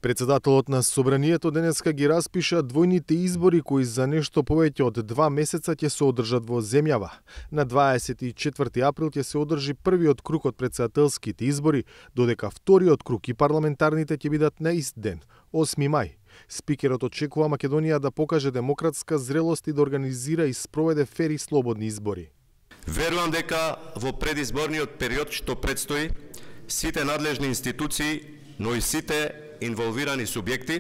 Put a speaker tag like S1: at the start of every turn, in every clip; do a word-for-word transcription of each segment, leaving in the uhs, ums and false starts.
S1: Председателот на Собранието денеска ги распиша двојните избори кои за нешто повеќе од два месеца ќе се одржат во земјава. На дваесет и четврти април ќе се одржи првиот круг од председателските избори, додека вториот круг и парламентарните ќе бидат на ист ден, осми мај. Спикерот очекува Македонија да покаже демократска зрелост и да организира и спроведе фер и слободни избори.
S2: Верувам дека во предизборниот период што предстои, сите надлежни институции, но и сите инволвирани субјекти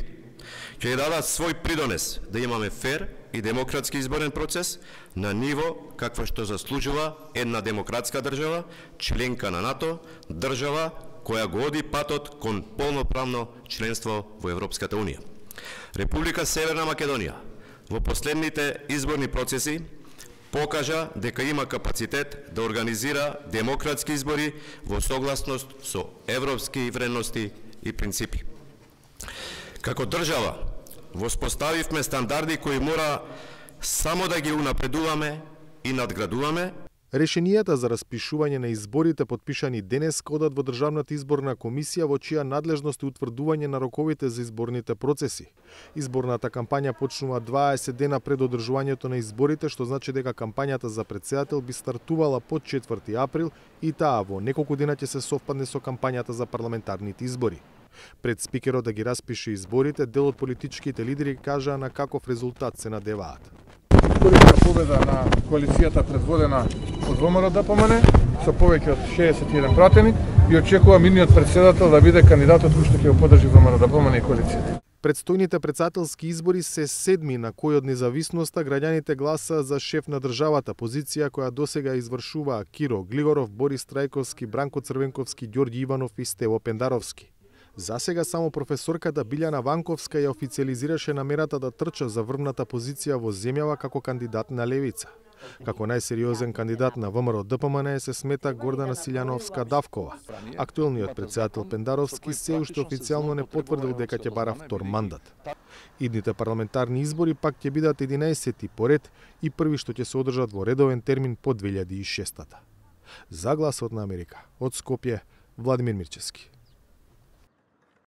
S2: ќе дадат свој придонес да имаме фер и демократски изборен процес на ниво каква што заслужува една демократска држава, членка на НАТО, држава која го оди патот кон полноправно членство во Европската Унија. Република Северна Македонија во последните изборни процеси покажа дека има капацитет да организира демократски избори во согласност со европски вредности и принципи. Како држава, воспоставивме стандарди кои мора само да ги унапредуваме и надградуваме.
S1: Решенијата за распишување на изборите подпишани денес одат во Државната изборна комисија во чија надлежност е утврдување на роковите за изборните процеси. Изборната кампања почнува дваесет дена пред одржувањето на изборите, што значи дека кампањата за претседател би стартувала под четврти април и таа во неколку дена ќе се совпадне со кампањата за парламентарните избори. Пред спикерот да ги распише изборите, дел од политичките лидери кажаа на каков резултат се надеваат.
S3: Историска победа на коалицијата предводена од ВМРО-ДПМН со повеќе од шеесет и еден пратени и очекувам идниот претседател да биде кандидатот кој што ќе го поддржи ВМРО-ДПМН и коалицијата.
S1: Предстојните претседателски избори се седми на кој од независноста граѓаните гласа за шеф на државата, позиција која досега извршуваа Киро Глигоров, Борис Трајковски, Бранко Црвенковски, Ѓорѓи Иванов и Стево Пендаровски. За сега само професорката Билјана Ванковска ја официализираше намерата да трча за врвната позиција во земјава како кандидат на левица. Како најсериозен кандидат на ВМРО-ДПМН се смета Гордана Силјановска-Давкова. Актуелниот претседател Пендаровски се уште официјално не потврдил дека ќе бара втор мандат. Идните парламентарни избори пак ќе бидат единаесети поред и први што ќе се одржат во редовен термин по две илјади и шеста. За Гласот на Америка, од Скопје, Владимир Мирчевски.